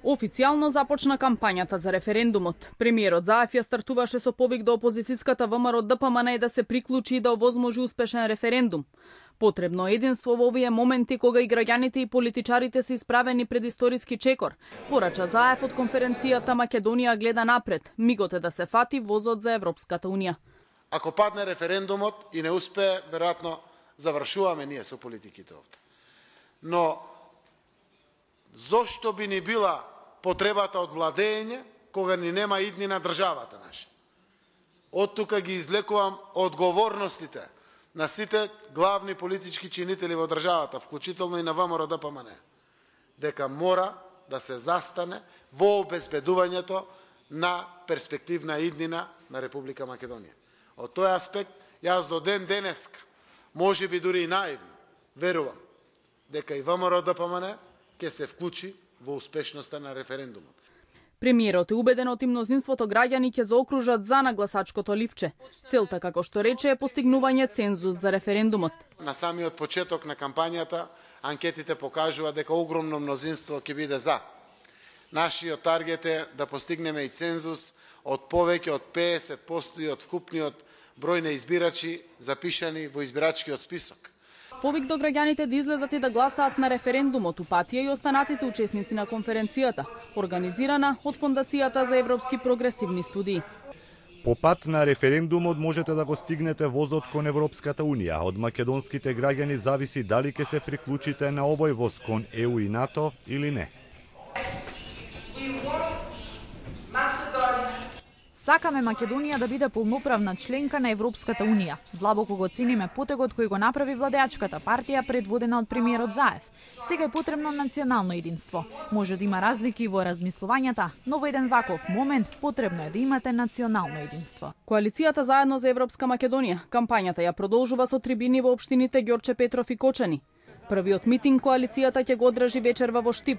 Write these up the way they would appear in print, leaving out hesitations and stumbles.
Официјално започна кампањата за референдумот. Премиерот Заев ја стартуваше со повик до опозицијската ВМРО ДПМН да се приклучи и да овозможи успешен референдум. Потребно е единство во овие моменти кога и граѓаните и политичарите се исправени пред историски чекор. Порача Заев од конференцијата Македонија гледа напред. Мигот е да се фати возот за Европската унија. Ако падне референдумот и не успее, веројатно завршуваме ние со политиките овде. Но зошто би ни била потребата од владење кога ни нема иднина државата наша? Од тука ги излекувам одговорностите на сите главни политички чинители во државата, вклучително и на ВМРО ДПМН, дека мора да се застане во обезбедувањето на перспективна иднина на Република Македонија. Од тој аспект, јас до ден денеска, може би дури и наивно, верувам дека и ВМРО ДПМН ќе се вклучи во успешноста на референдумот. Премиерот е убеден од мнозинството граѓани ќе заокружат за на гласачкото ливче. Целта, како што рече, е постигнување цензус за референдумот. На самиот почеток на кампањата, анкетите покажува дека огромно мнозинство ќе биде за. Нашиот таргет е да постигнеме и цензус од повеќе од 50% и од вкупниот број на избирачи запишани во избирачкиот список. Повик до граѓаните да излезат и да гласаат на референдумот упатија и останатите учесници на конференцијата, организирана од Фондацијата за европски прогресивни студии. По пат на референдумот можете да го стигнете возот кон Европската унија. Од македонските граѓани зависи дали ќе се приклучите на овој воз кон ЕУ и НАТО или не. Сакаме Македонија да биде полноправна членка на Европската унија. Длабоко го цениме потегот кој го направи владеачката партија предводена од премиерот Заев. Сега е потребно национално единство. Може да има разлики во размислувањата, но во еден ваков момент потребно е да имате национално единство. Коалицијата Заедно за Европска Македонија кампањата ја продолжува со трибини во општините Ѓорче Петров и Кочани. Првиот митинг коалицијата ќе го одржи вечерва во Штип.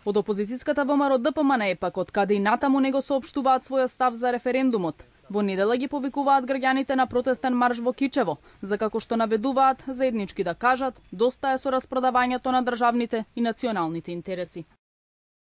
Од опозицијската ВМРО ДПМН е пак од каде и натаму него соопштуваат својот став за референдумот. Во недела ги повикуваат граѓаните на протестен марш во Кичево, за како што наведуваат заеднички да кажат доста е со распродавањето на државните и националните интереси.